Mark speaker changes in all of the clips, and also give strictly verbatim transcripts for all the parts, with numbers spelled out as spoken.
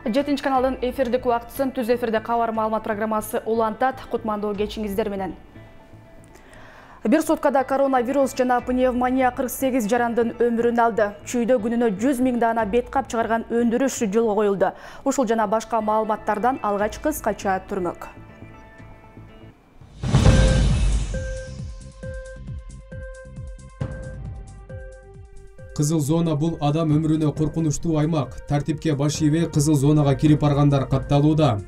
Speaker 1: жетинчи каналдын эфирдик убактысын түз эфирде кабар маалымат программасы улантат. Кутмандуу кечиңиздер менен. Бир суткада коронавирус жана пневмония кырк сегиз жарандын өмүрүн алды. Чүйдө күнүнө жүз миң даана бет кап чыгарган өндүрүш жолго коюлду. Ушул жана башка маалыматтардан алгач кыскача түрмөк.
Speaker 2: Кызыл зона бул адам өмүрүнө коркунучтуу аймак. Тартипке баш ийбей кызыл зонага кирип баргандар катталууда.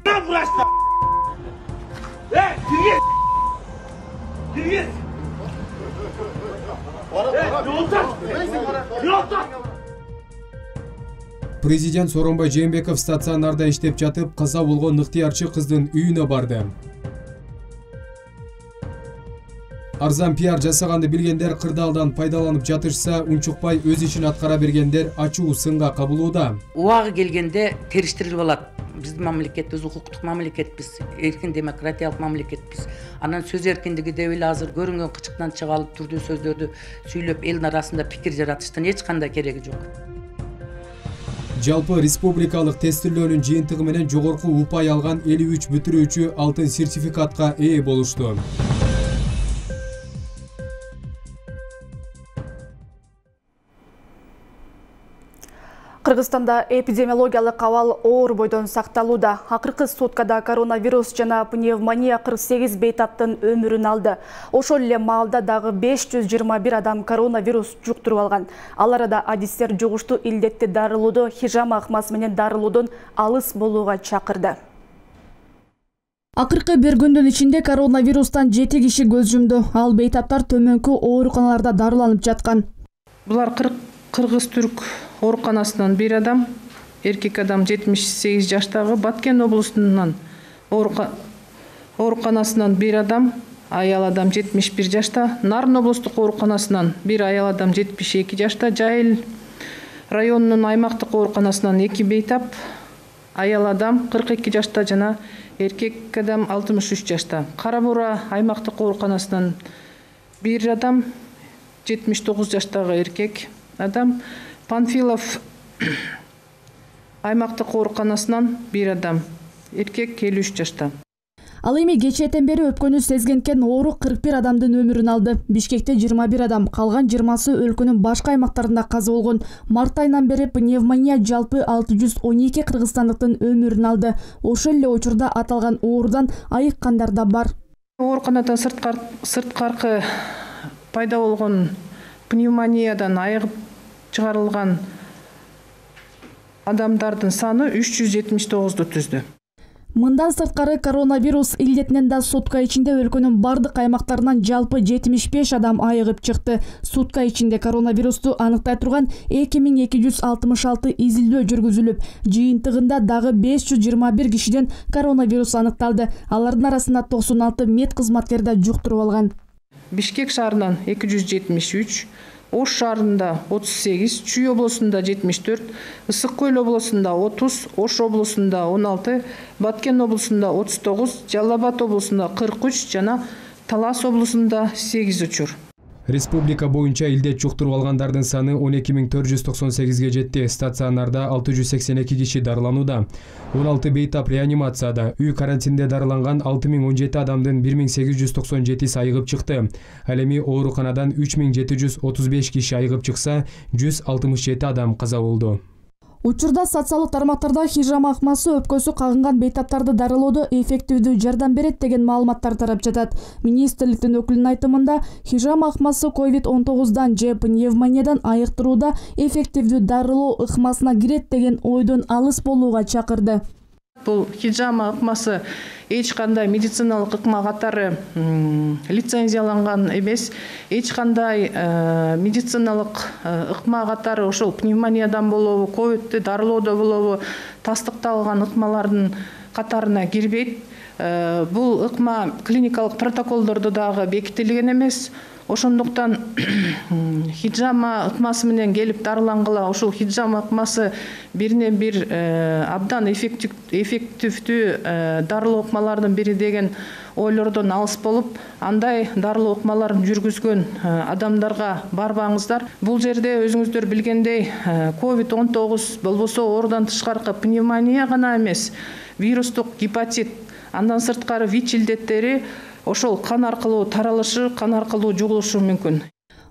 Speaker 2: Президент Сооронбай Жээнбеков стационарда иштеп жатып, каза болгон ыктыярчы кыздын үйүнө барды. Арзан пиар жасаганды билгендер кырдаалдан пайдаланып жатышса, унчукпай өз ишин аткара бергендер ачуу сынга кабылууда.
Speaker 3: Убагы келгенде териштирилип алат. Биздин мамлекет биз укуктук мамлекетпиз, эркин демократиялык мамлекетпиз. Анан сөз эркиндиги деп эле азыр көрүнгөн кычыктан чыга алып түрдүү сөздөрдү сүйлөп элдин арасында пикир жаратыштын эч кандай кереги жок.
Speaker 2: Жалпы республикалык тестилөөнүн жыйынтыгы менен жогорку упай алган элүү үч бүтүрүүчү алтын сертификатка ээ болушту.
Speaker 1: Кыргызстанда эпидемиологиялык абал оор бойдон сакталууда. Акыркы суткада коронавирус жана пневмония кырк сегиз бейтаптын өмүрүн алды. Ошол эле маалда дагы беш жүз жыйырма бир адам коронавирус жуктуруп алган. Ал арада адистер жугуштуу илдетти дарылоодо хижама ыкмасы менен дарылоодон алыс болууга чакырды. Акыркы бир күндүн ичинде коронавирустан жети киши көз жумду. Ал бейтаптар төмөнкү ооруканаларда дарыланып жаткан.
Speaker 4: Булар Кыргыз-Түрк ооруканасынан бир адам, эркек адам жетимиш сегиз жаштагы, Баткен облусунан ооруканасынан бир адам, аял адам жетимиш бир жашта, Нарын облустук ооруканасынан бир аял адам жетимиш эки жашта, Жайыл районунун аймактык ооруканасынан эки бейтап, аял адам кырк эки жашта жана эркек адам алтымыш үч жашта. Кара Бура аймактык ооруканасынан бир адам, жетимиш тогуз жаштагы эркек адам, Панфилов аймактык ооруканасынан бир адам, эркек элүү үч жашта.
Speaker 1: Ал эми кечээден бери өпкөнү сезгенкен оору кырк бир адамдын өмүрүн алды. Бишкекте жыйырма бир адам, калган жыйырмасы өлкөнүн башка аймактарында каза болгон. Март айынан бери пневмония жалпы алты жүз он эки кыргызстандыктын өмүрүн алды. Ошол эле учурда аталган оорудан айыккандар да бар.
Speaker 4: Ооруканадан сырткаркы пайда болгон пневмониядан айыгып чыгарылган адамдардын саны үч жүз жетимиш тогузду түздү.
Speaker 1: Мындан сырткары коронавирус илдетинен да сутка ичинде өлкөнүн бардык аймактарынан жалпы жетимиш беш адам айыгып чыкты. Сутка ичинде коронавирусту аныктай турган эки миң эки жүз алтымыш алты изилдөө жүргүзүлүп, жыйынтыгында дагы беш жүз жыйырма бир кишиден коронавирус аныкталды. Алардын арасында токсон алты мед кызматкери да жуктуруп алган.
Speaker 4: Бишкек шаарынан эки жүз жетимиш үч, Ош шаарында отуз сегиз, Чүй облусунда жетимиш төрт, Ысык Көл облусунда отуз, Ош облусунда он алты, Баткен облусунда отуз тогуз, Жалал Абад облусунда кырк үч жана Талас облусунда сегиз учур.
Speaker 2: Республика боюнча илдет жуктуруп алгандардын саны он эки миң төрт жүз токсон сегизге жетти. Стационарда алты жүз сексен эки киши дарыланууда. он алты бейтап реанимацияда. Үй карантинде дарыланган алты миң он жети адамдын бир миң сегиз жүз токсон жетиси айыгып чыкты. Ал эми ооруканадан үч миң жети жүз отуз беш киши айыгып чыкса, жүз алтымыш жети адам каза болду. Учурда социалдык тармактарда хижама ыкмасы өпкөсү кагынган бейтаптарды дарылоодо эффективдүү жардам берет деген маалыматтар тарап жатат. Министрликтин өкүлүнүн айтымында, хижама ыкмасы ковид он тогуздан же пневмониядан айыктырууда эффективдүү дарылоо ыкмасына кирет деген ойдон алыс болууга чакырды.
Speaker 4: Бул хижама ыкмасы эч кандай медициналык ыкма катары лицензияланган эмес, эч кандай медициналык ыкма катары ошол пневмониядан болобу, ковидти дарылоодо болобу тастыкталган ыкмалардын катарына кирбейт. Бул ыкма клиникалык протоколдордо дагы бекитилген эмес. Ошондуктан хиджама ыкмасы менен келип дарылангыла, ошол хиджама ыкмасы бирине бир абдан эффективдүү дарылоо ыкмалардын бири деген ойлордон алыс болуп, андай дарылоо ыкмаларын жүргүзгөн адамдарга барбаңыздар. Бул жерде өзүңүздөр билгендей ковид он тогуз болбосо оорудан тышкаркы пневмония гана эмес, вирустук гепатит, андан сырткары ВИЧ илдеттери ошол кан аркылуу таралышы, кан аркылуу жугулушу мүмкүн.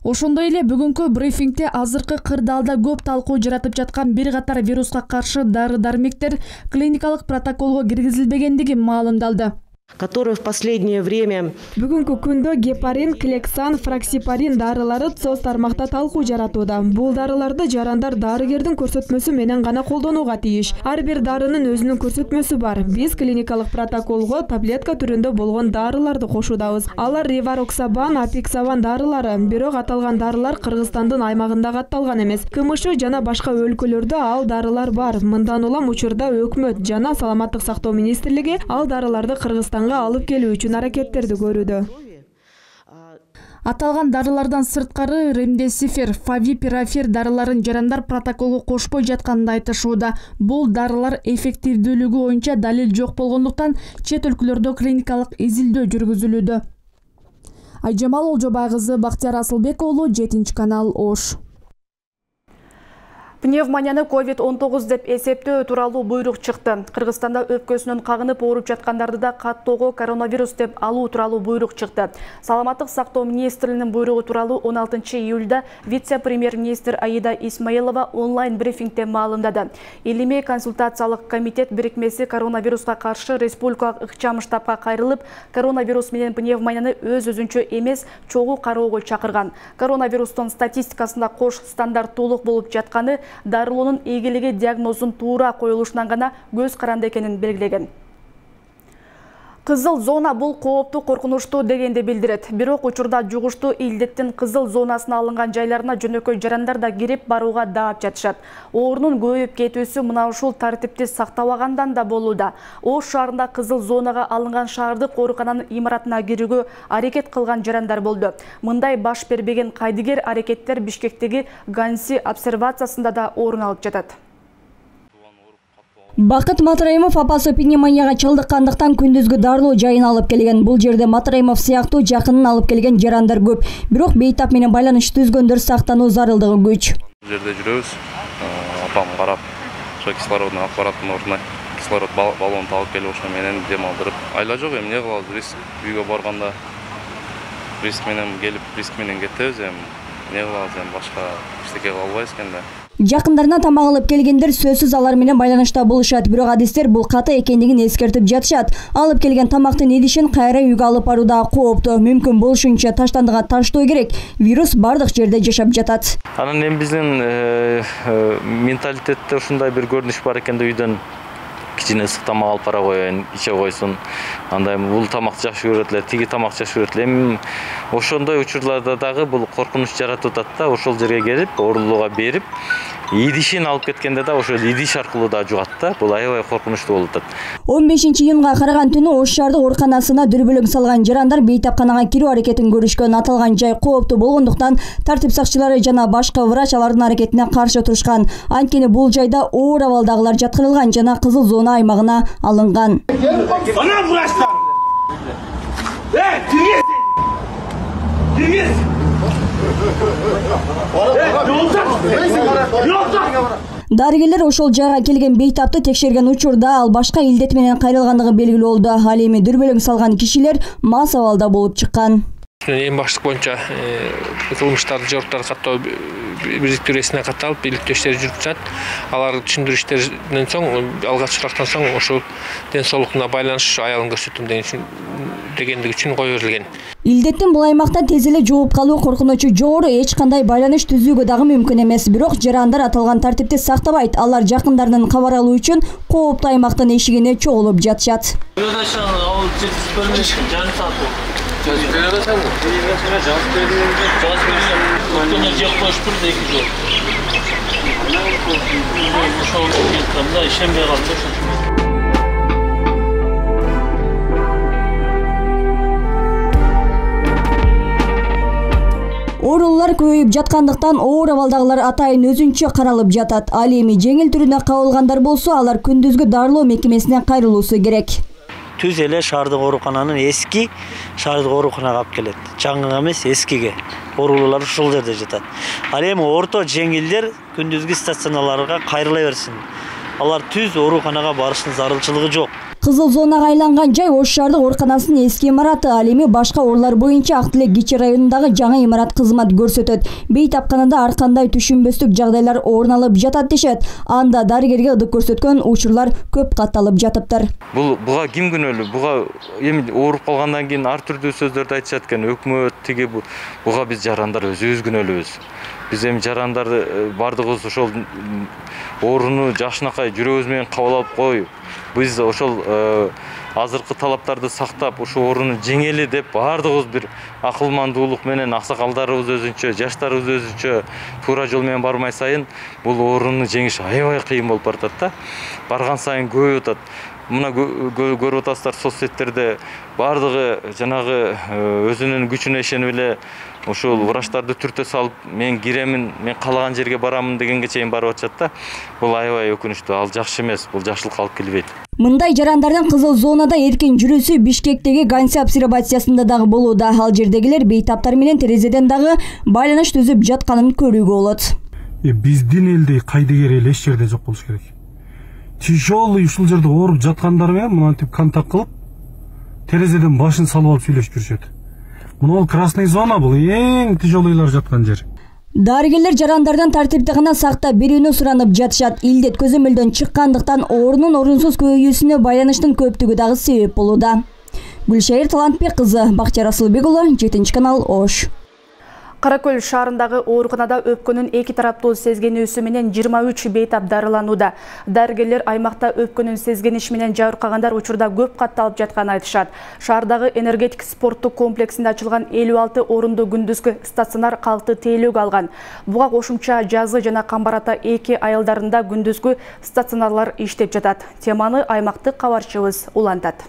Speaker 1: Ошондой эле бүгүнкү брифингде азыркы кырдаалда көп талкуу жаратып жаткан бир катар вируска каршы дары-дармектер клиникалык протоколго киргизилбегендиги маалымдалды.
Speaker 5: Которые в последнее время
Speaker 6: Бүгүнкү күндө гепарин, клексан, фраксипарин дарылары соц тармакта талкуу жаратууда. Бул дарыларды жарандар дарыгердин көрсөтмөсү менен гана колдонууга тийиш. Ар бир дарынын өзүнүн көрсөтмөсү бар. Биз клиникалык протоколго таблетка түрүндө болгон дарыларды кошуудабыз. Алар ревароксабан, апиксабан дарылары, бирок аталган дарылар Кыргызстандын аймагында катталган эмес. КМШ жана башка өлкөлөрдө ал дарылар бар. Мындан улам учурда өкмөт жана саламаттык сактоо министрлиги ал дарыларды Кыргызстанга алып келүү үчүн аракеттерди көрүүдө.
Speaker 1: Аталган дарылардан сырткары ремдесифир, фавипирафир дарыларын жарандар протоколго кошпой жатканын айтышууда. Бул дарылар эффективдүүлүгү боюнча далил жок болгондуктан чет өлкөлөрдө клиникалык изилдөө жүргүзүлүүдө. Айжамал Олжобай кызы, Бактияр Асылбек уулу, жетинчи канал, Ош. Пневмонияны ковид он тогуз деп эсептөө тууралуу буйрук чыкты. Кыргызстанда өпкөсүнөн кагынып ооруп жаткандарды да каттоого коронавирус деп алуу тууралуу буйрук чыкты. Саламаттык сактоо министрлигинин буйругу тууралуу он алтынчы июлда вице-премьер-министр Аида Исмаилова онлайн брифингде маалымдады. Илимий консультациялык комитет бирикмеси коронавируска каршы республикалык ыкчам штабка кайрылып, коронавирус менен пневмонияны өз өзүнчө эмес чогуу кароого чакырган. Коронавирустун статистикасында кош стандарттуулук болуп жатканы дарылоонун ийгилиги диагнозун туура коюлушунан гана көз каранды экенин белгилеген. Кызыл зона бул кооптуу, коркунучтуу дегенди билдирет. Бирок учурда жугуштуу илдеттин кызыл зонасына алынган жайларына жөнөкөй жарандар да кирип барууга даап жатышат. Оорунун көбөйүп кетүүсү мына ушул тартипти сактабагандан да болууда. Ош шаарында кызыл зонага алынган шаардык оорукананын имаратына кирүүгө аракет кылган жарандар болду. Мындай баш бербеген кайдыгер аракеттер Бишкектеги Ганси обсервациясында да орун алып жатат.
Speaker 7: Бакыт Матраимов апасы пневмонияга чалдыккандыктан күндүзгү дарылоо жайына алып келген. Бул жерде Матраимов сыяктуу жакынын алып келген жарандар көп. Бирок бейтап менен байланыш түзгөндөр сактануу зарылдыгы күч.
Speaker 8: Бул жерде жүрөбүз. Апам карап, ошо кислородный аппараттын ордуна кислород баллонун алып келип ошо менен дем алдырып. Айла жок, эми эмне кылабыз? Риск үйгө барганда риск менен келип, риск менен кетебиз. Эми эмне кылабыз? Эми башка эчтеке кыла албайбыз экен да.
Speaker 7: Жакындарына тамак алып келгендер сөзсүз алар менен байланышта болушат, бирок адистер бул каты экендигин эскертип жатышат. Алып келген тамактын идишин кайра үйгө алып баруу да кооптуу. Мүмкүн болушунча таштандыга таштоо керек. Вирус бардык жерде жашап жатат.
Speaker 9: Анан эми биздин менталитетте ушундай бир көрүнүш бар экен да, үйдөн кичине ысык тамак алып бара коеюн, иче койсун. Андай бул тамакты жакшы көрөт эле, тиги тамакты жакшы көрөт эле. Эми ошондой учурларда дагы бул коркунуч жаратып атат да, ошол жерге келип, оорулууга берип, идишин алып кеткенде да ошол идиш аркылуу да жугат да. Бул аябай коркунучтуу болуп атат.
Speaker 7: он бешинчи июнга караган түнү Ош шаардык ооруканасына дүрбөлөң салган жарандар бейтапканага кирүү аракетин көрүшкөн. Аталган жай кооптуу болгондуктан тартип сакчылары жана башкы врач алардын аракетине каршы турушкан. Анткени бул жайда оор абалдагылар жаткырылган жана кызыл зона аймагына алынган.
Speaker 10: Ана врачтар! Э, киргиз! Киргиз!
Speaker 7: Дарыгерлер ошол жайга келген бейтапты текшерген учурда ал башка илдет менен кайрылгандыгы белгилүү болду. Ал эми дүрбөлөң салган кишилер мас абалда болуп чыккан.
Speaker 11: Эң баштык боюнча кылмыштарды жоруктарды каттоо бириктирүүсүнө катталып, иликтөөчтөр жүрүп жатат. Алар түшүндүрүштөрдөн соң, алгачкырактан соң ошол ден соолуктуна байланыш аялын көрсөтөм дегендиги үчүн кое берилген.
Speaker 7: Илдеттин бул аймакта тез эле жугуп калуу коркунучу жогору, эч кандай байланыш түзүүгө дагы мүмкүн эмес. Бирок жарандар аталган тартипти сактабайт. Алар жакындарынан кабар алуу үчүн кооптуу аймактын эшигине чогулуп жатышат. көбөйүп жаткандыктан оор абалдагылар атайын өзүнчө каралып жатат. Ал эми жеңил түрүнө кабылгандар болсо, алар күндүзгү дарылоо мекемесине кайрылуусу керек.
Speaker 12: Түз эле шаардык оорукананын эски шаардык ооруканага алып келет. Жаңы эмес, эскиге. Оорулуулар ушул жерде жатат. Ал эми орто жеңилдер күндүзгү стационарларга кайрыла берсин. Алар түз ооруканага барыштын зарылчылыгы жок.
Speaker 7: Кызыл зонага айланган жай Ош шаардык ооруканасынын эски имараты. Ал эми башка оорулар боюнча Ак Тилек кичи районундагы жаңы имарат кызмат көрсөтөт. Бейтапканада ар кандай түшүнбөстүк жагдайлар орун алып жатат дешет. Анда дарыгерге ылдык көрсөткөн учурлар көп катталып жатыптыр.
Speaker 9: Бул буга ким күнөөлүү? Буга эми ооруп калгандан кийин ар түрдүү сөздөрдү айтышат экен. Өкмөт тиги буга биз жарандар өзүбүз күнөөлүүбүз. Биз эми жарандар бардыгыбыз ошол ооруну жакшынакай жүрөгүбүз менен кабыл алып коюп, биз ошол азыркы талаптарды сактап, ушу ооруну жеңели деп бардыгыбыз бир акылмандуулук менен аксакалдарыбыз өзүнчө, жаштарыбыз өзүнчө туура жол менен бармай сайын бул ооруну жеңиш аябай кыйын болуп баратат да. Барган сайын көбөйүп атат. Мына көрүп атасыздар соц сеттерде бардыгы жанагы өзүнүн күчүнө ишенип эле ушул врачтарды түртө салып, мен киремин, мен каалаган жерге барамын дегенге чейин барып атышат да. Бул аябай өкүнүчтүү, ал жакшы эмес, бул жакшылыкка алып келбейт.
Speaker 7: Мындай жарандардын кызыл зонада эркин жүрүүсү Бишкектеги Ганси обсервациясында дагы болууда. Ал жердегилер бейтаптар менен терезеден дагы байланыш түзүп жатканын көрүүгө болот.
Speaker 13: Биздин элде кайдыгер эл эч жерде жок болуш керек. Тяжелый ушул жерде ооруп жаткандар менен мынтип контакт кылып, терезеден башын салып алып сүйлөшүп жүрүшөт. Мына красный зона бул эң тяжелыйлар жаткан жер.
Speaker 7: Дарыгерлер жарандардан тартипти гана сактап берүүнү суранып жатышат. Илдет көзөмөлдөн чыккандыктан оорунун орунсуз көбөйүүсүнө байланыштын көптүгү дагы себеп болууда. Гүлшайыр Талантбек кызы, Бактияр Асылбек уулу, жетинчи канал, Ош.
Speaker 1: Кара Көл шаарындагы ооруканада өпкөнүн эки тараптуу сезгенүүсү менен жыйырма үч бейтап дарыланууда. Дарыгерлер аймакта өпкөнүн сезгениш менен жабыркагандар учурда көп катталып жатканын айтышат. Шаардагы энергетик спорттук комплексинде ачылган элүү алты орундуу күндүзгү стационар калкты тейлөөгө алган. Буга кошумча жазы жана камбар ата эки айылдарында күндүзгү стационарлар иштеп жатат. Теманы аймактык кабарчыбыз улантат.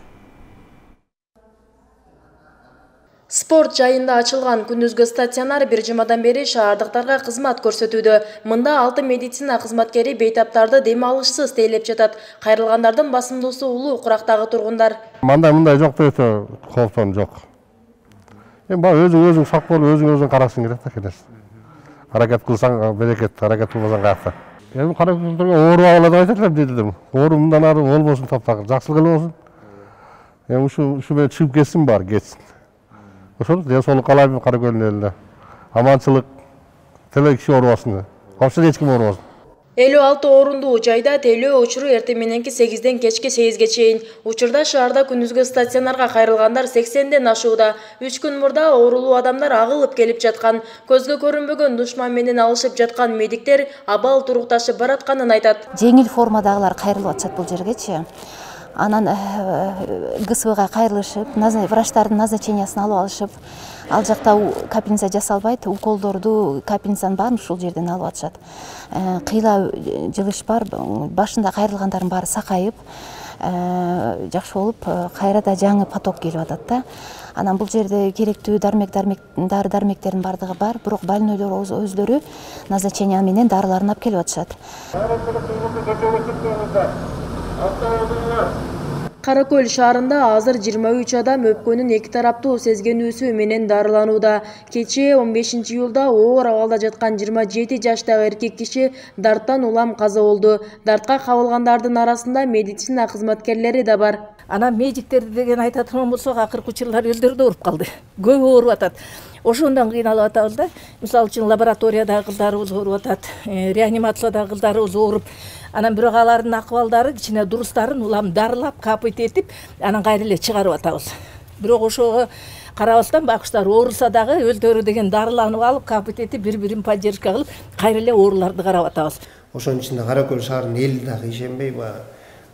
Speaker 14: Спорт жайында ачылган күндүзгү стационар бир жумадан бери шаардыктарга кызмат көрсөтүүдө. Мында алты медицина кызматкери бейтаптарды дем алышсыз тейлеп жатат. Кайрылгандардын басымдуусу улуу Курактагы тургундар.
Speaker 15: Мында мындай жок дейт, кооптон жок. Эми баа өзүң өзүң сак болуп, өзүң өзүң карашың керек да келес. Аракет кылсаң берекет, аракет кылбасаң каякта. Эми каракөздөргө ооруп алат деп айтат элем дейдим. Оору мындан ары болбосун, таптагы жакшылык эле болсун. Эми ушу ушу менен чыгып кетсин баары, кетсин. Ошол денсаулык каалайм Кара Көлдүн элине. Аманчылык, теле киши оорубасын. Коомчуда эч ким оорубасын.
Speaker 14: элүү алты орундуу жайда тейлөө учуру эртең мененки сегизден кечки сегизге чейин. Учурда шаарда күндүзгү стационарга кайрылгандар сексенден ашууда. үч күн мурда оорулуу адамдар агылып келип жаткан. Көзгө көрүнбөгөн душман менен алышып жаткан медиктер абал турукташып баратканын айтат.
Speaker 16: Жеңил формадагылар кайрылып атышат бул жергечи. Анан ГСВга кайрылышып, врачтардын назначениясын алып алышып, ал жакта капельница жасалбайт, уколдорду, капельницанын баарын ушул жерден алып атышат. Кыйла жылыш бар, башында кайрылгандардын баары сакайып, жакшы болуп, кайрада жаңы поток келип атат да. Анан бул жерде керектүү дармек дармек дары дармектердин бардыгы бар, бирок больнойлор өздөрү назначения менен дарыларын алып келип атышат.
Speaker 14: Кара Көл шаарында азыр жыйырма үч адам өпкөнүн эки тараптуу сезгенүүсү менен дарыланууда. Кечээ он бешинчи июлда оор абалда жаткан жыйырма жети жаштагы эркек киши дарттан улам каза болду. Дартка кабылгандардын арасында медицина кызматкерлери да бар.
Speaker 17: Анан медиктер деген айтатын болсок, акыркы учурлар өздөрү да ооруп калды. Көбү ооруп атат. Ошондон кыйналып атабыз да. Мисалы үчүн лабораториядагы кыздарыбыз ооруп атат, реанимациядагы кыздарыбыз ооруп. Анан бирок алардын акыбалдары кичине дурустарын улам дарылап, капыт этип, анан кайра эле чыгарып атабыз. Бирок ошого карабастан бакчылар ооруса дагы өздөрү деген дарыланып алып, капыт этип, бири-бирин поддержка кылып, кайра эле ооруларды карап атабыз.
Speaker 18: Ошонун ичинде Кара Көл шаарынын эли дагы ишенбей,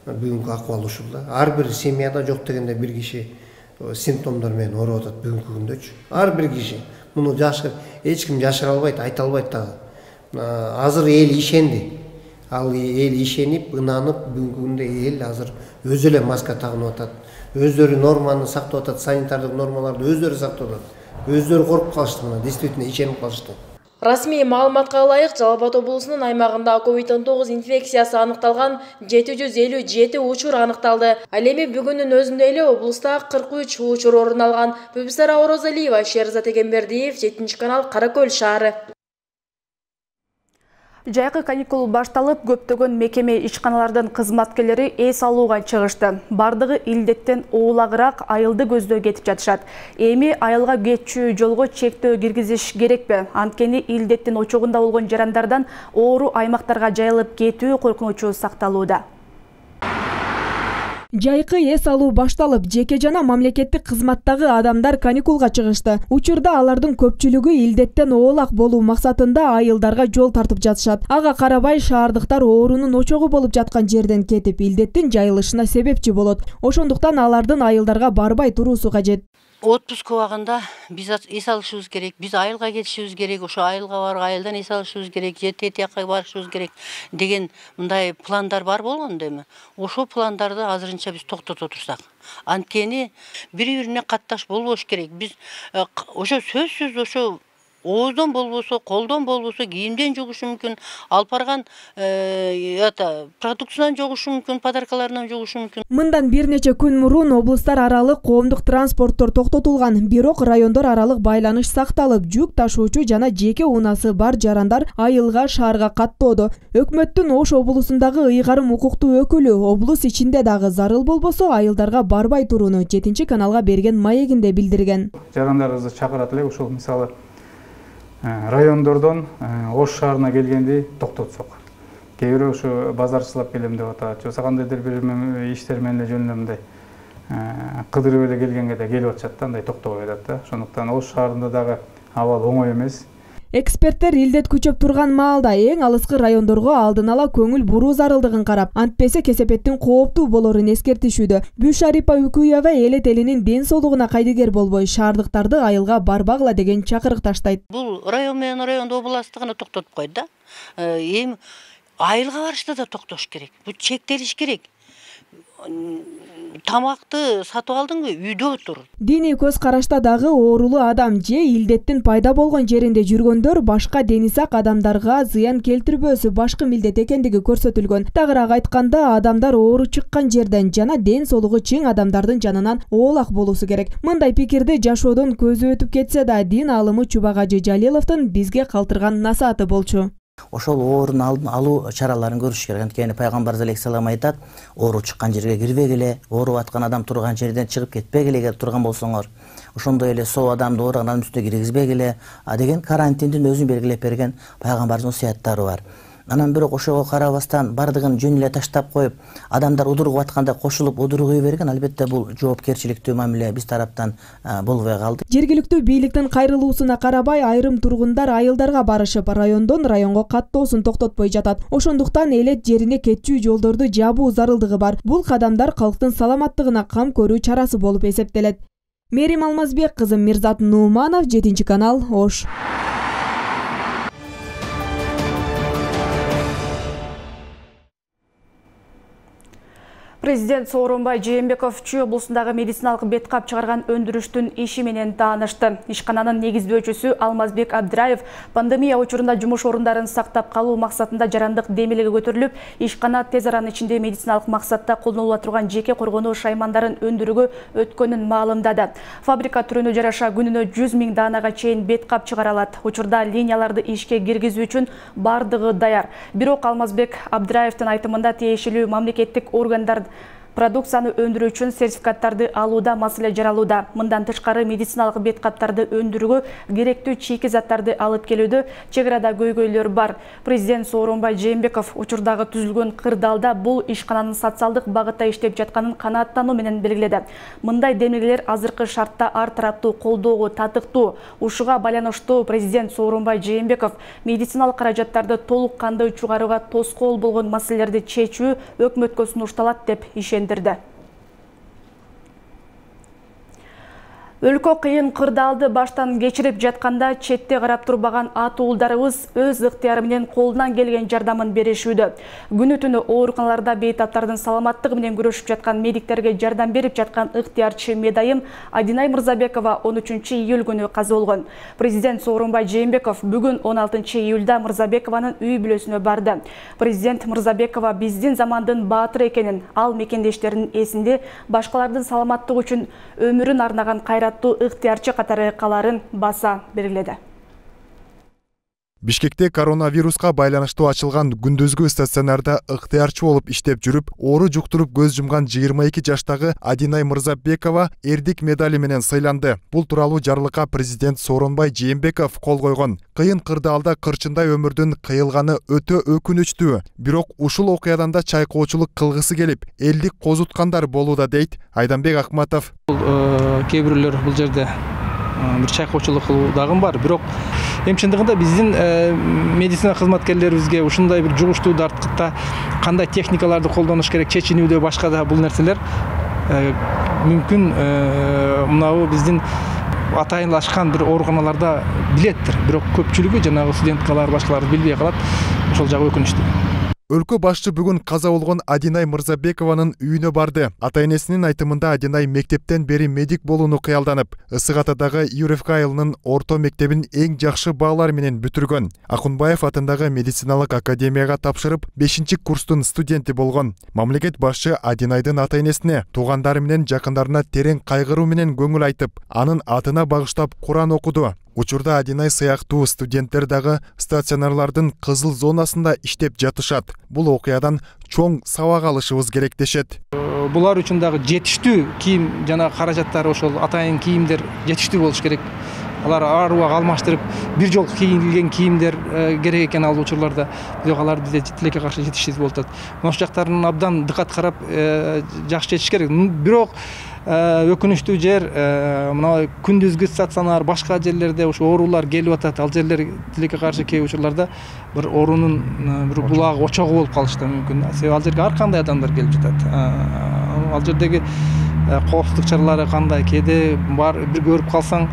Speaker 18: бүгүнкү акыбал ушул да. Ар бир семьяда жок дегенде бир киши симптомдор менен ооруп атат бүгүнкү күндөчү. Ар бир киши. Муну жашыр, эч ким жашыра албайт, айта албайт дагы. Азыр эл ишенди. Ал эл ишенип, ынанып, бүгүнкү күндө эл азыр өзү эле маска тагынып атат. Өздөрү норманы сактап атат, санитардык нормаларды өздөрү сактап атат. Өздөрү коруп калышты, мына действительно ишенип калышты.
Speaker 14: Расмий маалыматка ылайык, Жалал Абад облусунун аймагында ковид он тогуз инфекциясы аныкталган жети жүз элүү жети учур аныкталды. Ал эми бүгүнүн өзүндө эле облуста кырк үч учур орун алган. Бүбүсара Орозалиева, Шерзат Эгембердиев, жетинчи канал, Кара Көл шаары.
Speaker 1: Жайкы каникул башталып, көптөгөн мекеме ишканалардын кызматкерлери эс алууга чыгышты. Бардыгы илдеттен уулагыраак айылды көздөй кетип жатышат. Эми айылга кетчү жолго чектөө киргизиш керекпи? Анткени илдеттин очогунда болгон жарандардан оору аймактарга жайылып кетүү коркунучу сакталууда.
Speaker 6: Жайкы эс алуу башталып, жеке жана мамлекеттик кызматтагы адамдар каникулга чыгышты. Учурда алардын көпчүлүгү илдеттен оолак болуу максатында айылдарга жол тартып жатышат. Ага карабай шаардыктар оорунун очогу болуп жаткан жерден кетип, илдеттин жайылышына себепчи болот. Ошондуктан алардын айылдарга барбай туруусу кажет.
Speaker 19: Отпуск убагында биз эс алышыбыз керек, биз айылга кетишибиз керек, ошо айылга барып айылдан эс алышыбыз керек, же тет жакка барышыбыз керек деген мындай пландар бар болгон эми. Ошо пландарды азырынча биз токтото турсак. Анткени бири-бирине катташ болбош керек. Биз ошо сөзсүз ошо ооздон болбосо, колдон болбосо, кийимден жугушу мүмкүн, алып барган это продукциядан жугушу мүмкүн, подаркаларынан жугушу мүмкүн.
Speaker 6: Мындан бир нече күн мурун облустар аралык коомдук транспорттор токтотулган, бирок райондор аралык байланыш сакталып, жүк ташуучу жана жеке унаасы бар жарандар айылга, шаарга каттоодо. Өкмөттүн Ош облусундагы ыйгарым укуктуу өкүлү облус ичинде дагы зарыл болбосо айылдарга барбай турууну жетинчи каналга берген маегинде билдирген.
Speaker 20: Жарандарыбызды чакырат элек, ушул мисалы райондордон Ош шаарына келгенди токтотсок. Кээ бирөө ушу базарчылап келем деп атат, же кандайдыр бир иштер менен эле жөнүнөн мындай кыдырып эле келгенге да келип атышат да, андай токтобой атат да. Ошондуктан Ош шаарында дагы абал оңой эмес.
Speaker 6: Эксперттер илдет күчөп турган маалда эң алыскы райондорго алдын ала көңүл буруу зарылдыгын карап, антпесе кесепеттин кооптуу болорун эскертишүүдө. Бюшарипа Үкүева элет элинин ден соолугуна кайдыгер болбой, шаардыктарды айылга барбагыла деген чакырык таштайт.
Speaker 19: Бул район менен райондо областтыгына токтотуп койду да. Эми айылга барышта да токтош керек. Бул чектелиш керек. Тамакты сатып алдыңбы, үйдө отур.
Speaker 6: Диний көз карашта дагы оорулуу адам же илдеттин пайда болгон жеринде жүргөндөр башка дени сак адамдарга зыян келтирбөөсү башкы милдет экендиги көрсөтүлгөн. Тагыраак айтканда, адамдар оору чыккан жерден жана ден соолугу чың адамдардын жанынан оолак болуусу керек. Мындай пикирди жашоодон көзү өтүп кетсе да, дин аалымы Чубагажы Жалиловдун бизге калтырган насааты болчу.
Speaker 21: Ошол оорун алуу чараларын көрүш керек. Анткени пайгамбарыбыз алейхисалам айтат, оору чыккан жерге кирбегиле, ооруп аткан адам турган жерден чыгып кетпегиле, эгер турган болсоңор. Ошондой эле соо адамды ооруган адамдын үстүнө киргизбегиле деген карантиндин өзүн белгилеп берген пайгамбардын осуяттары бар. Анан бирок ошого карабастан бардыгын жөн эле таштап коюп, адамдар удуругуп атканда кошулуп удуругуй берген, албетте бул жоопкерчиликтүү мамиле биз тараптан болбой калды.
Speaker 6: Жергиликтүү бийликтин кайрылуусуна карабай, айрым тургундар айылдарга барышып, райондон районго каттоосун токтотпой жатат. Ошондуктан элет жерине кетчү жолдорду жабуу зарылдыгы бар. Бул кадамдар калктын саламаттыгына кам көрүү чарасы болуп эсептелет. Мерим Алмазбек кызы, Мирзат Нууманов, жетинчи канал, Ош.
Speaker 1: Президент Сооронбай Жээнбеков Чүй облусундагы медициналык бет кап чыгарган өндүрүштүн иши менен таанышты. Ишкананын негиздөөчүсү Алмазбек Абдраев пандемия учурунда жумуш орундарын сактап калуу максатында жарандык демилиги көтөрүлүп, ишкана тез аранын ичинде медициналык максатта колдонула турган жеке коргонуу шаймандарын өндүрүүгө өткөнүн маалымдады. Фабрика түрүнө жараша күнүнө жүз миң даанага чейин бет кап чыгара алат. Учурда линияларды ишке киргизүү үчүн бардыгы даяр. Бирок Алмазбек Абдраевдин айтымында тиешелүү мамлекеттик органдар продукцияны өндүрүү үчүн сертификаттарды алууда маселе жаралууда. Мындан тышкары медициналык бет каптарды өндүрүүгө керектүү чийки заттарды алып келүүдө чек арада көйгөйлөр бар. Президент Сооронбай Жээнбеков учурдагы түзүлгөн кырдаалда бул ишкананын социалдык багытта иштеп жатканын канааттануу менен белгиледи. Мындай демилгелер азыркы шартта ар тараптуу колдоого татыктуу. Ушуга байланыштуу президент Сооронбай Жээнбеков медициналык каражаттарды толук кандуу чыгарууга тоскоол болгон маселелерди чечүү өкмөткө сунушталат деп ишендирди. Өлкө кыйын кырдаалды баштан кечирип жатканда четте карап турбаган ат уулдарыбыз өз ыктыяры менен колунан келген жардамын беришүүдө. Күнү түнү ооруканаларда бейтаптардын саламаттыгы менен күрөшүп жаткан медиктерге жардам берип жаткан ыктыярчы медайым Адинай Мырзабекова он үчүнчү июль күнү каза болгон. Президент Сооронбай Жээнбеков бүгүн он алтынчы июлда Мырзабекованын үй бүлөсүнө барды. Президент Мырзабекова биздин замандын баатыры экенин, ал мекендештеринин эсинде башкалардын саламаттыгы үчүн өмүрүн арнаган кайрат ыктыярчы катары каларын баса белгиледи.
Speaker 3: Бишкекте коронавируска байланыштуу ачылган күндүзгү стационарда ыктыярчы болуп иштеп жүрүп, оору жуктуруп көз жумган жыйырма эки жаштагы Адинай Мырзабекова эрдик медали менен сыйланды. Бул тууралуу жарлыкка президент Сооронбай Жээнбеков кол койгон. Кыйын кырдаалда кырчындай өмүрдүн кыйылганы өтө өкүнүчтүү. Бирок ушул окуядан да чайкоочулук кылгысы келип, элди козуткандар болууда дейт Айданбек Акматов.
Speaker 11: Кээ бирөөлөр бул жерде бир чайкоочулук дагы бар, бирок эми чындыгында биздин медицина кызматкерлерибизге ушундай бир жугуштуу дарткытта кандай техникаларды колдонуш керек, чечинүүдө башка да бул нерселер мүмкүн мынабу биздин атайынлашкан бир ооруканаларда билеттир, бирок көпчүлүгү жанагы студенткалар башкалар билбей калат. Ошол жагы өкүнүчтүү.
Speaker 3: Өлкө башчы бүгүн каза болгон Адинай Мырзабекованын үйүнө барды. Ата-энесинин айтымында Адинай мектептен бери медик болууну кыялданып, Ысык Атадагы ЮРФК айылынын орто мектебин эң жакшы баалар менен бүтүргөн. Акунбаев атындагы медициналык академияга тапшырып, бешинчи курстун студенти болгон. Мамлекет башчы Адинайдын ата-энесине, туугандары менен жакындарына терең кайгыруу менен көңүл айтып, анын атына багыштап Куран окуду. Учурда Адинай сыяктуу студенттер дагы стационарлардын кызыл зонасында иштеп жатышат. Бул окуядан чоң сабак алышыбыз керек дешет.
Speaker 11: Булар үчүн дагы жетиштүү кийим жана каражаттар, ошол атайын кийимдер жетиштүү болуш керек. Алар ар убак алмаштырып, бир жол кийилген кийимдер керек экен ал учурларда. Бирок алар бизде тилекке каршы жетишсиз болуп атат. Мына ушул жактарын абдан дыкат карап жакшы жетиш керек. Бирок өкүнүчтүү жер мына күндүзгү стационар, башка жерлерде ушу оорулар келип атат. Ал жерлер тилекке каршы кээ учурларда бир оорунун бир булагы, очогу болуп калышы да мүмкүн. Себеби ал жерге ар кандай адамдар келип жатат. Ал жердеги коопсуздук чаралары кандай, кээде бар бир көрүп калсаң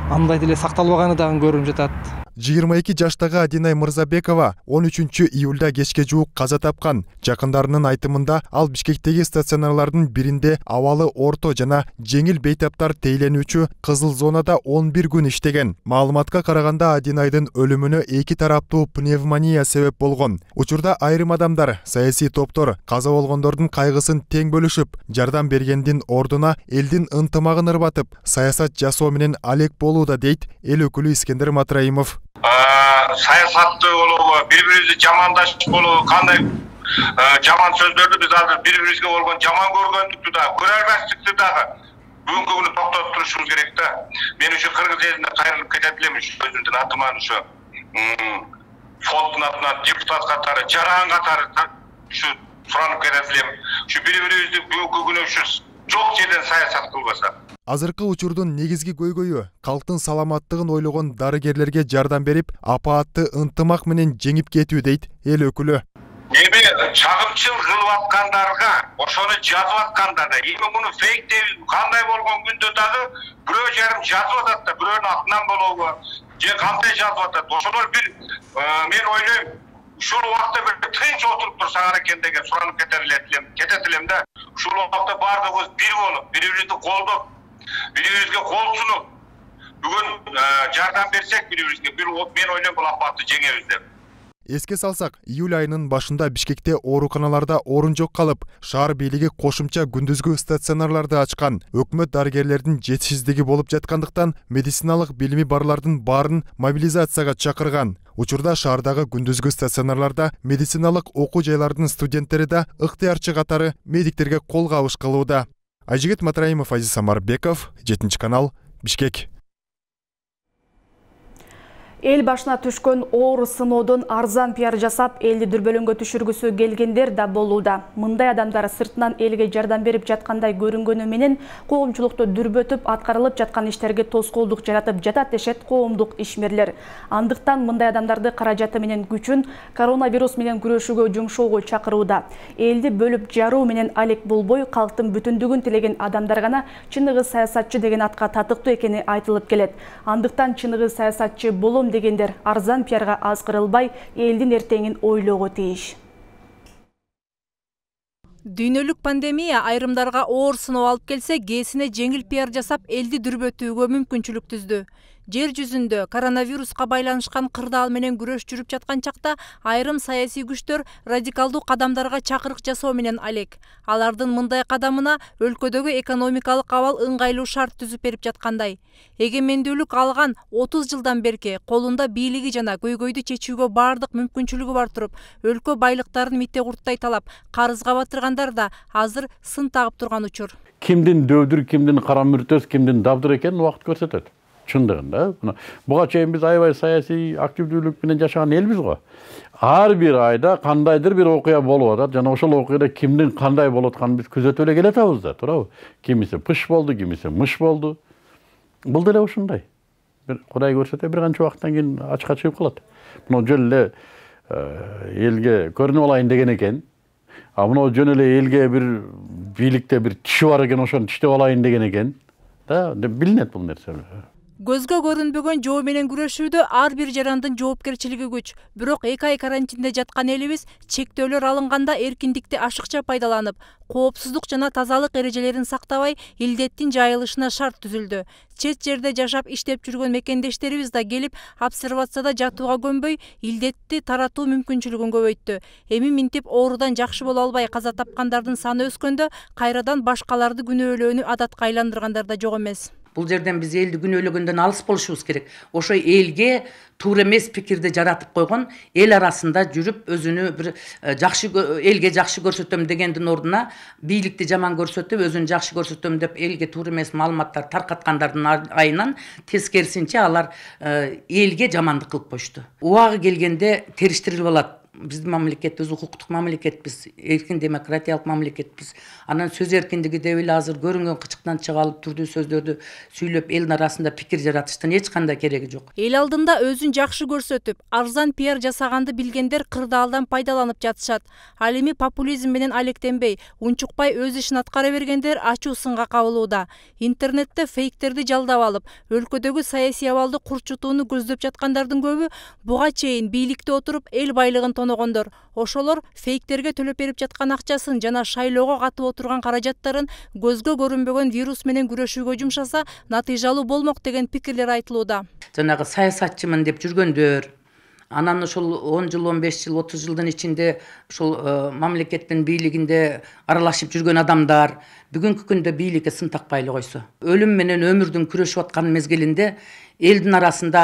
Speaker 11: андай деле сакталбаганы дагы көрүнүп жатат.
Speaker 3: жыйырма эки жаштагы Адинай Мырзабекова он үчүнчү июлда кечке жуук каза тапкан. Жакындарынын айтымында ал Бишкектеги стационарлардын биринде абалы орто жана жеңил бейтаптар тейленүүчү кызыл зонада он бир күн иштеген. Маалыматка караганда Адинайдын өлүмүнө эки тараптуу пневмония себеп болгон. Учурда айрым адамдар, саясий топтор каза болгондордун кайгысын тең бөлүшүп, жардам бергендин ордуна элдин ынтымагын ырбатып, саясат жасоо менен алек болууда дейт эл өкүлү Искендер Матраимов.
Speaker 10: Саясатты болобу, бири-бирибизди жамандаш болобу, кандай жаман сөздөрдү биз азыр бири-бирибизге болгон жаман көргөндүктү да, көрө албастыкты дагы бүгүнкү күнү токтотуп турушубуз керек да. Мен ушу кыргыз элине кайрылып кетет элем, өзүмдүн атыман ушу фонддун атынан депутат катары, жаран катары ушу суранып кетет элем. Ушу бири-бирибизди бүгүнкү күнү ушу жок жерден саясат кылбаса.
Speaker 3: Азыркы учурдун негизги көйгөйү калктын саламаттыгын ойлогон дарыгерлерге жардам берип, апаатты ынтымак менен жеңип кетүү дейт эл өкүлү.
Speaker 10: Эми чагымчыл кылып аткандарга, ошону жазып аткандарга, эми муну фейк деп кандай болгон күндө дагы бирөө жарым жазып атат да, бирөөнүн атынан болобу, же кандай жазып атат. Ошолор бир мен ойлойм, ушул убакта бир тынч отуруп турсаңар экен деген суранып кетет элем, кетет элем да. Ушул убакта баардыгыбыз бир болуп, бири-бирибизди колдоп, бири-бирибизге кол сунуп, бүгүн жардам берсек бири-бирибизге, бир мен ойлойм бул апатты жеңебиз деп.
Speaker 3: Эске салсак, июль айынын башында Бишкекте ооруканаларда орун жок калып, шаар бийлиги кошумча күндүзгү стационарларды ачкан. Өкмөт дарыгерлердин жетишсиздиги болуп жаткандыктан медициналык билими барлардын баарын мобилизацияга чакырган. Учурда шаардагы күндүзгү стационарларда медициналык окуу жайлардын студенттери да ыктыярчы катары медиктерге кол кабыш кылууда. Айжигит Матраимов, Азиз Самарбеков, жетинчи канал, Бишкек.
Speaker 1: Эл башына түшкөн оор сыноодон арзан пиар жасап, элди дүрбөлөңгө түшүргүсү келгендер да болууда. Мындай адамдар сыртынан элге жардам берип жаткандай көрүнгөнү менен коомчулукту дүрбөтүп, аткарылып жаткан иштерге тоскоолдук жаратып жатат дешет коомдук ишмерлер. Андыктан мындай адамдарды каражаты менен күчүн коронавирус менен күрөшүүгө жумшоого чакырууда. Элди бөлүп жаруу менен алек болбой, калктын бүтүндүгүн тилеген адамдар гана чыныгы саясатчы деген атка татыктуу экени айтылып келет. Андыктан чыныгы саясатчы болом дегендер арзан пиарга азгырылбай, элдин эртеңин ойлоого тийиш.
Speaker 2: Дүйнөлүк пандемия айрымдарга оор сыноо алып келсе, кээсине жеңил пиар жасап, элди дүрбөтүүгө мүмкүнчүлүк түздү. Жер жүзүндө коронавируска байланышкан кырдаал менен күрөш жүрүп жаткан чакта айрым саясий күчтөр радикалдуу кадамдарга чакырык жасоо менен алек. Алардын мындай кадамына өлкөдөгү экономикалык абал ыңгайлуу шарт түзүп берип жаткандай. Эгемендүүлүк алган отуз жылдан берки колунда бийлиги жана көйгөйдү чечүүгө бардык мүмкүнчүлүгү бар туруп, өлкө байлыктарын митте курттай талап, карызга батыргандар да азыр сын тагып турган учур.
Speaker 22: Кимдин дөөдүр, кимдин кара мүртөс, кимдин дабдыр экенин убакыт көрсөтөт. Чындыгында буга чейин биз аябай саясий активдүүлүк менен жашаган элбиз го. Ар бир айда кандайдыр бир окуя болуп атат, жана ошол окуяда кимдин кандай болуп атканын биз күзөтүп эле келатабыз да, туурабы? Кимиси пыш болду, кимиси мыш болду. Бул деле ушундай. Бир Кудай көрсөтө бир канча убакыттан кийин ачыкка чыгып калат. Мына жөн эле элге көрүнүп алайын деген экен. А мына жөн эле элге бир бийликте бир тиши бар экен, ошону тиштеп алайын деген экен. Да, билинет бул нерсе.
Speaker 2: Көзгө көрүнбөгөн жоо менен күрөшүүдө ар бир жарандын жоопкерчилиги күч. Бирок эки ай карантинде жаткан элибиз чектөөлөр алынганда эркиндикти ашыкча пайдаланып, коопсуздук жана тазалык эрежелерин сактабай, илдеттин жайылышына шарт түзүлдү. Чет жерде жашап иштеп жүргөн мекендештерибиз да келип, обсервацияда жатууга көнбөй, илдетти таратуу мүмкүнчүлүгүн көбөйттү. Эми минтип оорудан жакшы боло албай каза тапкандардын саны өскөндө, кайрадан башкаларды күнөөлөөнү адатка айландыргандар да жок эмес.
Speaker 23: Бул жерден биз элди күнөөлөгөндөн алыс болушубуз керек. Ошо элге туура эмес пикирди жаратып койгон, эл арасында жүрүп өзүнү бир жакшы элге жакшы көрсөтөм дегендин ордуна бийликти жаман көрсөтүп, өзүн жакшы көрсөтөм деп элге туура эмес маалыматтар таркаткандардын айынан тескерисинче алар элге жамандык кылып коюшту. Убагы келгенде териштирилип алат. Биздин мамлекетибиз укуктук мамлекетпиз, эркин демократиялык мамлекетпиз. Анан сөз эркиндиги деп эле азыр көрүнгөн кычыктан чыга алып түрдүү сөздөрдү сүйлөп элдин арасында пикир жаратыштын эч кандай кереги жок.
Speaker 2: Эл алдында өзүн жакшы көрсөтүп, арзан пиар жасаганды билгендер кырдаалдан пайдаланып жатышат. Ал эми популизм менен алектенбей, унчукпай өз ишин аткара бергендер ачуу сынга кабылууда. Интернетте фейктерди жалдап алып, өлкөдөгү саясий абалды курчутууну көздөп жаткандардын көбү буга чейин бийликте отуруп эл байлыгын тоногондор. Ошолор фейктерге төлөп берип жаткан акчасын жана шайлоого катып отурган каражаттарын көзгө көрүнбөгөн вирус менен күрөшүүгө жумшаса, натыйжалуу болмок деген пикирлер айтылууда.
Speaker 23: Жанагы саясатчымын деп жүргөндөр, анан ошол он жыл, он беш жыл, отуз жылдын ичинде ошол мамлекеттин бийлигинде аралашып жүргөн адамдар бүгүнкү күндө бийликке сын такпай эле койсо, өлүм менен өмүрдүн күрөшүп аткан мезгилинде элдин арасында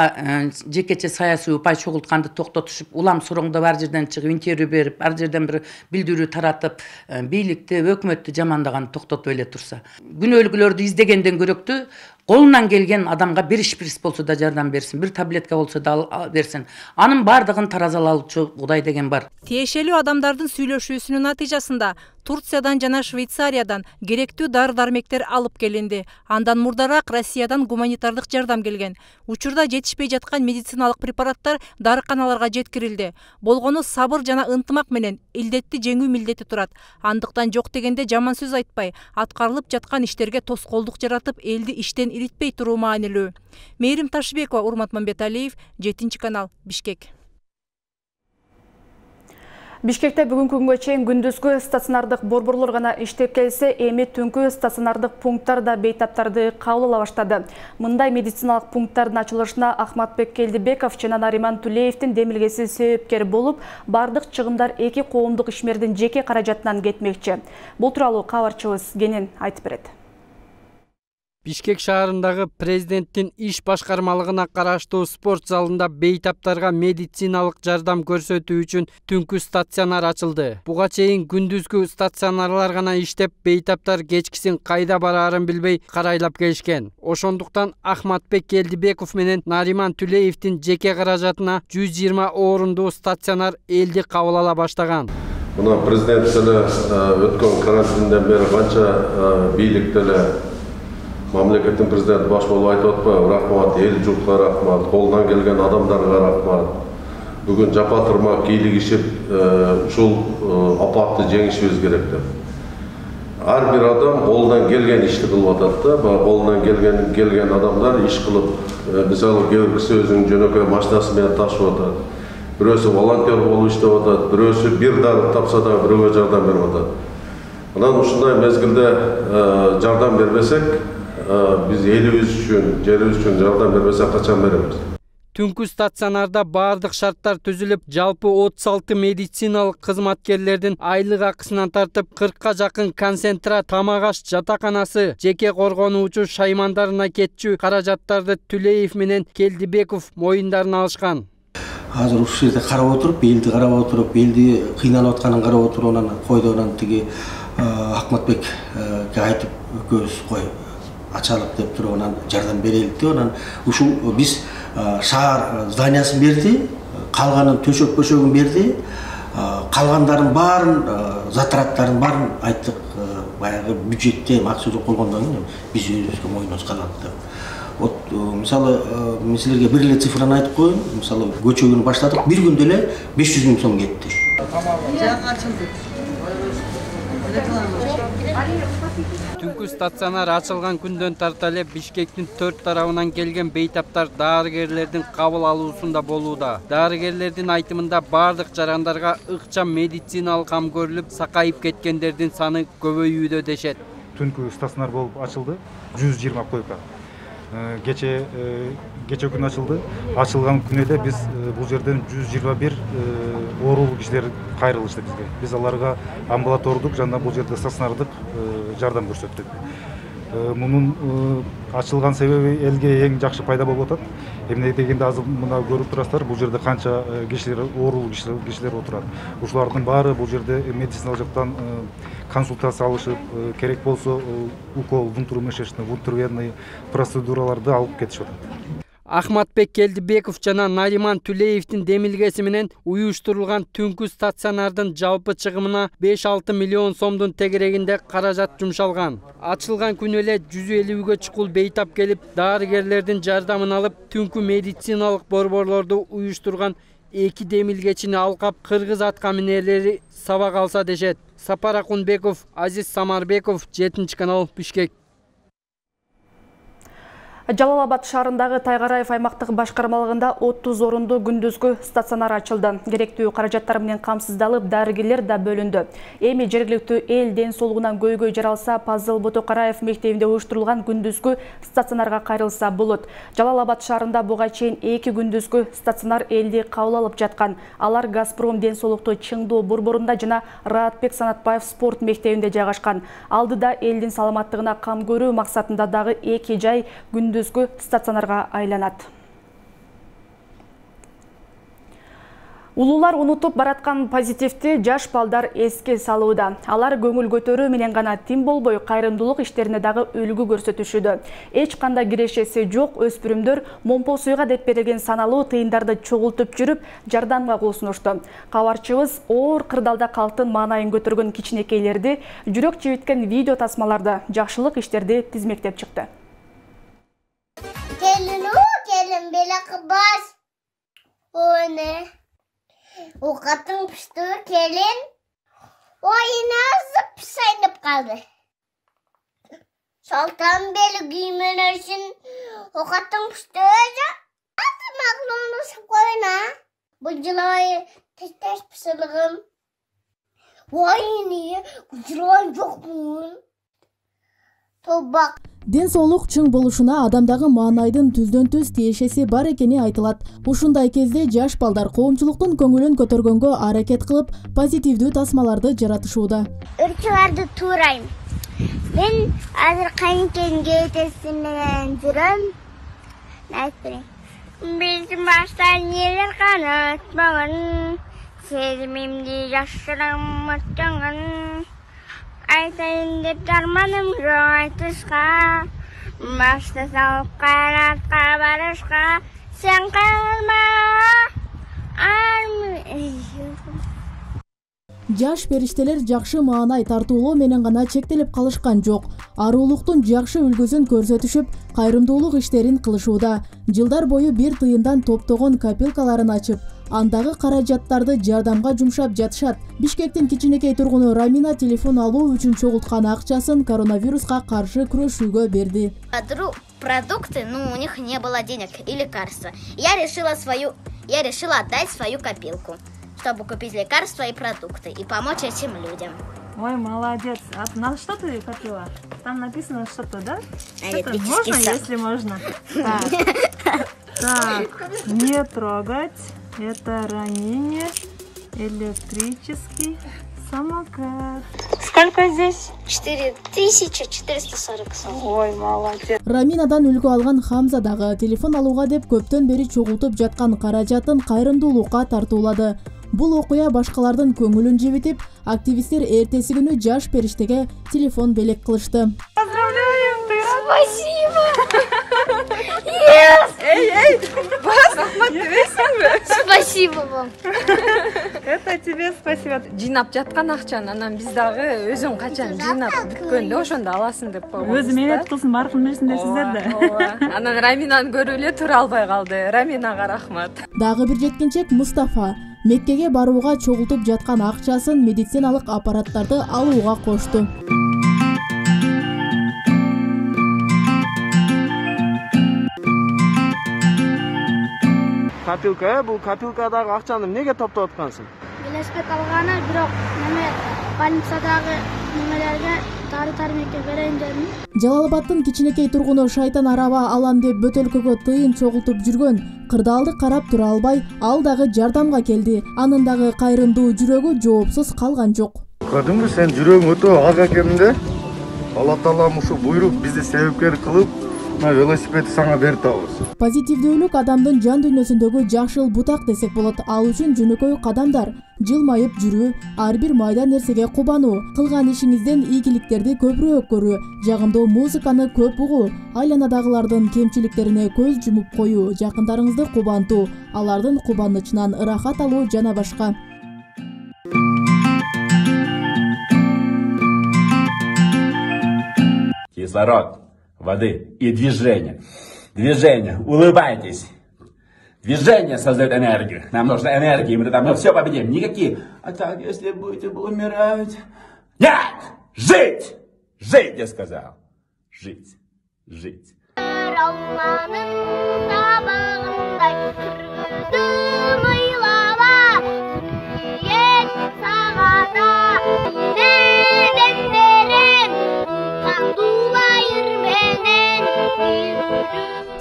Speaker 23: жекече саясий упай чогултканды токтотушуп, улам сороңдоп ар жерден чыгып интервью берип, ар жерден бир билдирүү таратып, бийликти, өкмөттү жамандаган токтотуп эле турса, күнөөлүүлөрдү издегенден көрөктүү колунан келген адамга бир шприц болсо да жардам берсин, бир таблетка болсо да берсин. Анын бардыгын таразалаучу Кудай деген бар.
Speaker 2: Тиешелүү адамдардын сүйлөшүүсүнүн натыйжасында Турциядан жана Швейцариядан керектүү дары-дармектер алып келинди. Андан мурдараак Россиядан гуманитардык жардам келген. Учурда жетишпей жаткан медициналык препараттар дарыканаларга жеткирилди. Болгону сабыр жана ынтымак менен илдетти жеңүү милдети турат. Андыктан жок дегенде жаман сөз айтпай, аткарылып жаткан иштерге тоскоолдук жаратып, элди иштен иритпей туруу маанилүү. Мээрим Ташбекова, Урмат Мамбеталиев, жетинчи канал, Бишкек.
Speaker 1: Бишкекте бүгүнкү күнгө чейин күндүзгү стационардык борборлор гана иштеп келсе, эми түнкү стационардык пункттар да бейтаптарды кабыл ала баштады. Мындай медициналык пункттардын ачылышына Ахматбек Келдибеков жана Нариман Тулеевдин демилгеси себепкер болуп, бардык чыгымдар эки коомдук ишмердин жеке каражатынан кетмекчи. Бул тууралуу кабарчыбыз Кенен айтып берет.
Speaker 4: Бишкек шаарындагы президенттин иш башкармалыгына караштуу спорт залында бейтаптарга медициналык жардам көрсөтүү үчүн түнкү стационар ачылды. Буга чейин күндүзгү стационарлар гана иштеп, бейтаптар кечкисин кайда бараарын билбей карайлап келишкен. Ошондуктан Ахматбек Келдибеков менен Нариман Түлеевдин жеке каражатына жүз жыйырма орундуу стационар элди кабыл ала баштаган.
Speaker 5: Мына президент деле өткөн карантинден бери канча бийлик деле мамлекеттин президенти баш болуп айтып атпайбы, рахмат, эл журтка рахмат, колунан келген адамдарга рахмат. Бүгүн жапа турмак кийлигишип ушул апатты жеңишибиз керек деп. Ар бир адам колунан келген ишти кылып атат да, колунан келген келген адамдар иш кылып, мисалы кээ бир киши өзүнүн жөнөкөй машинасы менен ташып атат. Бирөөсү волонтер болуп иштеп атат, бирөөсү бир дары тапса да бирөөгө жардам берип атат. Анан ушундай мезгилде жардам бербесек, биз элибиз үчүн, жерибиз үчүн жардам бербесек качан беребиз?
Speaker 4: Түнкү стационарда бардык шарттар түзүлүп, жалпы отуз алты медициналык кызматкерлердин айлык акысынан тартып кыркка жакын концентрат, тамак аш жатаканасы, жеке коргонуучу шаймандарына кетчү каражаттарды Түлеев менен Келдибеков моюндарына алышкан.
Speaker 8: Азыр ушул жерде карап отуруп, элди карап отуруп, элди кыйналып атканын карап отуруп, анан койду, анан тиги Ахматбекке айтып, экөөбүз кой ачалык деп туруп, анан жардам берелик деп, анан ушул биз шаар зданиясын берди, калганын төшөк бөшөгүн берди, калгандарын баарын, затраттарын баарын айттык, баягы бюджетте акча жок болгондон кийин биз өзүбүзгө мойнубузга алат деп. Вот мисалы мен силерге бир эле цифраны айтып коеюн, мисалы көчөгүн баштадык, бир күндө эле беш жүз миң сом кетти.
Speaker 4: Түнкү стационар ачылган күндөн тарта эле Бишкектин төрт тарабынан келген бейтаптар дарыгерлердин кабыл алуусунда болууда. Дарыгерлердин айтымында бардык жарандарга ыкчам медициналык кам көрүлүп, сакайып кеткендердин саны көбөйүүдө дешет.
Speaker 24: Түнкү стационар болуп ачылды, жүз жыйырма койка. Кече кече күн ачылды. Ачылган күнү эле биз бул жерден жүз жыйырма бир оорулуу кишилер кайрылышты бизге. Биз аларга амбулатордук жана бул жерде стационардык жардам көрсөттүк. Мунун ачылган себеби элге эң жакшы пайда болуп атат. Эмне дегенде азыр мына көрүп турасыздар, бул жерде канча кишилер, оорулуу кишилер отурат. Ушулардын баары бул жерде медициналык жактан консультация алышып, керек болсо укол, внутримышечный, внутривенный процедураларды алып кетишип атат.
Speaker 4: Ахматбек Келдибеков жана Нариман Түлеевдин демилгеси менен уюштурулган түнкү стационардын жалпы чыгымына беш алты миллион сомдун тегерегинде каражат жумшалган. Ачылган күнү эле жүз элүүгө чукул бейтап келип, дарыгерлердин жардамын алып, түнкү медициналык борборлорду уюштурган эки демилгечини алкап, кыргыз аткаминерлери сабак алса дешет. Сапар Акунбеков, Азиз Самарбеков, жетинчи канал, Бишкек.
Speaker 1: Жалал Абад шаарындагы Тайгараев аймактык башкармалыгында отуз орундуу күндүзгү стационар ачылды. Керектүү каражаттар менен камсыздалып, дарыгерлер да бөлүндү. Эми жергиликтүү эл ден соолугунан көйгөй жаралса, Пазыл Ботокараев мектебинде уюштурулган күндүзгү стационарга кайрылса болот. Жалал Абад шаарында буга чейин эки күндүзгү стационар элди кабыл алып жаткан. Алар Газпром ден соолукту Чыңдоо борборунда жана Раатбек Санатбаев спорт мектебинде жайгашкан. Алдыда элдин саламаттыгына кам көрүү максатында дагы эки жай күндүзгү стационарга айланат. Улуулар унутуп бараткан позитивти жаш балдар эске салууда. Алар көңүл көтөрүү менен гана тим болбой, кайрымдуулук иштерине дагы үлгү көрсөтүшүүдө. Эч кандай кирешеси жок өспүрүмдөр момпосуйга деп берилген саналуу тыйындарды чогултуп жүрүп, жардамга кол сунушту. Кабарчыбыз оор кырдаалда калктын маанайын көтөргөн кичинекейлерди, жүрөк жибиткен видео тасмаларды, жакшылык иштерди тизмектеп чыкты.
Speaker 25: Gelin o gelin bela kıbaz. O ne? O katın pişti gelin. O yine zıp sayınıp kaldı. Saltan beli giymen için o katın pişti öyle. Nasıl maklonu koyuna? Bu cilayı tez tez pişirliğim. Vay ne? Bu cilayı yok mu? Tobak.
Speaker 1: Ден соолук чың болушуна адамдагы маанайдын түздөн түз тиешеси бар экени айтылат. Ушундай кезде жаш балдар коомчулуктун көңүлүн көтөргөнгө аракет кылып, позитивдүү тасмаларды жаратышууда.
Speaker 25: Үрчүларды туурайм. Мен азыр кайынкемге этесин менен жүрөм. Биздин башта нелер канатмаган, сезимимди жашырам өткөн. Айтайын деп дарманым жок айтышка, башта салып кайратка барышка, сен кайрылма.
Speaker 1: Жаш периштелер жакшы маанай тартуулоо менен гана чектелип калышкан жок. Аруулуктун жакшы үлгүсүн көрсөтүшүп, кайрымдуулук иштерин кылышууда. Жылдар бою бир тыйындан топтогон копилкаларын ачып, андагы каражаттарды жардамга жумшап жатышат. Бишкектин кичинекей тургуну Рамина телефон алуу үчүн чогулткан акчасын коронавируска каршы күрөшүүгө берди.
Speaker 7: Продукты, ну, у них не было денег и лекарства. Я решила свою, я решила отдать свою копилку, чтобы купить лекарства и продукты и помочь этим людям.
Speaker 9: Ой, молодец. А на что ты копила? Там написано что-то, да? Что-то
Speaker 7: Электрический
Speaker 9: можно,
Speaker 7: сам.
Speaker 9: если можно. Так. Так, не трогать. Это ранение. Электрический самокат. Сколько здесь?
Speaker 25: четыре тысячи четыреста сорок.
Speaker 9: Ой, молодец.
Speaker 1: Раминадан үлгү алган Хамза дагы телефон алууга деп көптөн бери чогултуп жаткан каражатын кайрымдуулукка тартуулады. Бул окуя башкалардын көңүлүн жебитип, активисттер эртеси күнү жаш периштеге телефон белек кылышты.
Speaker 9: Поздравляем, ты
Speaker 25: Спасибо!
Speaker 9: Yes! Эй, эй! Бас, рахмат дебейсиңби?
Speaker 25: Спасибо вам!
Speaker 9: Это тебе спасибо. Жыйнап жаткан акчаны анан биз дагы өзүң качан жыйнап бүткөндө ошондо аласың деп койгонбуз. Өзү менет кылсын, баркын берсиндер сиздер да. Ооба. Анан Раминаны көрүп эле тура албай калды. Раминага рахмат.
Speaker 1: Дагы бир жеткинчек Мустафа Меккеге барууга чогултуп жаткан акчасын медициналык аппараттарды алууга кошту.
Speaker 12: Копилка, бул копилкадагы акчаны эмнеге топтоп аткансың?
Speaker 25: Велосипед алганы, бирок неме больницадагы немелерге дары-дармекке берейин дедим.
Speaker 1: Жалал-Абадтын кичинекей тургуну Шайтан араба алам деп бөтөлкөгө тыйын чогултуп жүргөн. Кырдаалды карап тура албай, ал дагы жардамга келди. Анын дагы кайрымдуу жүрөгү жоопсуз калган жок.
Speaker 12: Көрдүңбү, сен жүрөгүң өтө ага кеминде. Алла Таалам ушу буйруп бизди себепкер кылып, мына велосипедди сага берип атабыз.
Speaker 1: Позитивдүүлүк адамдын жан дүйнөсүндөгү жакшыл бутак десек болот. Ал үчүн жөнөкөй кадамдар, жылмайып жүрүү, ар бир майда нерсеге кубануу, кылган ишиңизден ийгиликтерди көбүрөөк көрүү, жагымдуу музыканы көп угуу, айланадагылардын кемчиликтерине көз жумуп коюу, жакындарыңызды кубантуу, алардын кубанычынан ырахат алуу жана башка.
Speaker 13: Кислород, воды и движение. Движение. Улыбайтесь. Движение создает энергию. Нам нужна энергия, мы тогда все победим. Никакие. А так, если будете умирать... Нет! Жить! Жить, я сказал. Жить. Жить.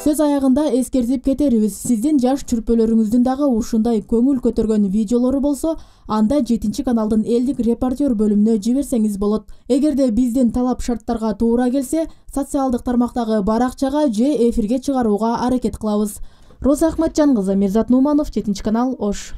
Speaker 1: Сөз аягында эскертип кетерибиз. Сиздин жаш чүрпөлөрүңүздүн дагы ушундай көңүл көтөргөн видеолору болсо, анда жетинчи каналдын элдик репортер бөлүмүнө жиберсеңиз болот. Эгерде биздин талап шарттарга туура келсе, социалдык тармактагы баракчага же эфирге чыгарууга аракет кылабыз. Роза Ахматжан кызы, Мирзат Нуманов, жетинчи канал, Ош.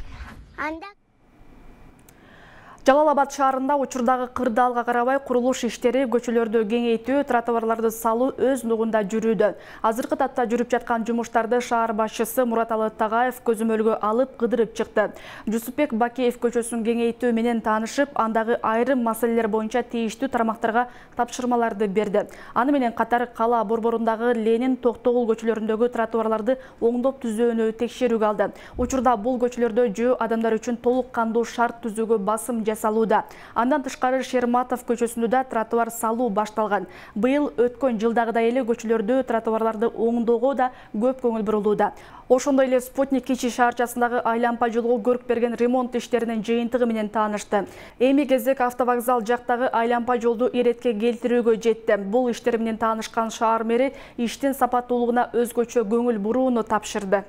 Speaker 1: Жалал-Абад шаарында учурдагы кырдаалга карабай курулуш иштери, көчөлөрдү кеңейтүү, тротуарларды салуу өз нугунда жүрүүдө. Азыркы татта жүрүп жаткан жумуштарды шаар башчысы Мураталы Тагаев көзөмөлгө алып кыдырып чыкты. Жусупбек Бакеев көчөсүн кеңейтүү менен таанышып, андагы айрым маселелер боюнча тийиштүү тармактарга тапшырмаларды берди. Аны менен катар кала борборундагы Ленин, Токтогул көчөлөрүндөгү тротуарларды оңдоп түзүүнү текшерүүгө алды. Учурда бул көчөлөрдө жөө адамдар үчүн толук кандуу шарт түзүүгө басым салууда. Андан тышкары Шерматов көчөсүндө да тротуар салуу башталган. Быйыл өткөн жылдагыдай эле көчөлөрдө тротуарларды оңдоого да көп көңүл бурулууда. Ошондой эле Спутник Кичи шаарчасындагы айланпа жолго көрүп берген ремонт иштеринин жыйынтыгы менен таанышты. Эми кезек автовокзал жактагы айланпа жолду иретке келтирүүгө жетти. Бул иштер менен таанышкан шаар мэри иштин сапаттуулугуна өзгөчө көңүл бурууну тапшырды.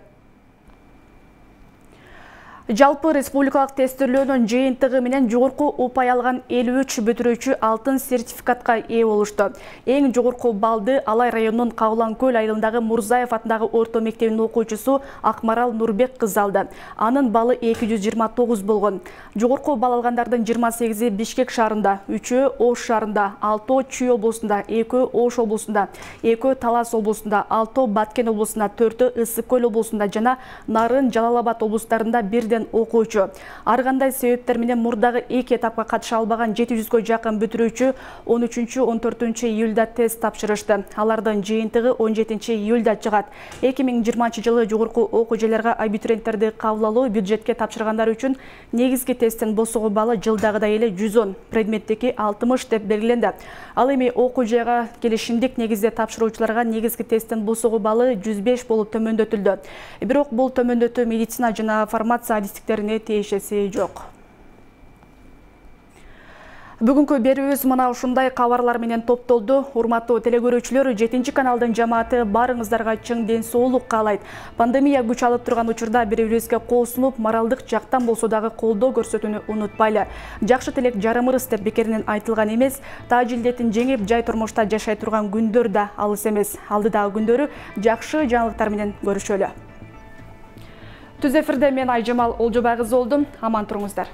Speaker 1: Жалпы республикалык тестөөлөөнүн жыйынтыгы менен жогорку упай алган элүү үч бүтүрүүчү алтын сертификатка ээ болушту. Эң жогорку баллды Алай районунун Кабылан көл айылындагы Мурзаев атындагы орто мектебинин окуучусу Акмарал Нурбек кызы алды. Анын баллы эки жүз жыйырма тогуз болгон. Жогорку балл алгандардын жыйырма сегизи Бишкек шаарында, үчөө Ош шаарында, алтоо Чүй облусунда, экөө Ош облусунда, экөө Талас облусунда, алтоо Баткен облусунда, төртөө Ысык көл облусунда жана Нарын, Жалал Абад облустарында бирден окуучу. Ар кандай себептер менен мурдагы эки этапка катыша албаган жети жүзгө жакын бүтүрүүчү он үчүнчү он төртүнчү июлда тест тапшырышты. Алардын жыйынтыгы он жетинчи июлда чыгат. эки миң жыйырманчы жылы жогорку окуу жайларга абитуриенттерди кабыл алуу бюджетке тапшыргандар үчүн негизги тесттин босого баллы жылдагыдай эле жүз он, предметтики алтымыш деп белгиленди. Ал эми окуу жайга келишимдик негизде тапшыруучуларга негизги тесттин босого баллы жүз беш болуп төмөндөтүлдү. Бирок бул төмөндөтүү медицина жана фармация адистиктерине тиешеси жок. Бүгүнкү берүүбүз мына ушундай кабарлар менен топтолду. Урматтуу телекөрүүчүлөр, жетинчи каналдын жамааты баарыңыздарга чың ден соолук каалайт. Пандемия күч алып турган учурда бири-бирибизге кол сунуп, моралдык жактан болсо дагы колдоо көрсөтүүнү унутпайлы. Жакшы тилек жарымырыс деп бекеринен айтылган эмес. Тааж илдетин жеңип, жай турмушта жашай турган күндөр да алыс эмес. Алдыдагы күндөрү жакшы жаңылыктар менен көрүшөлү. Түз эфирде мен Айжамал Олжобай кызы болдум. Аман туруңуздар.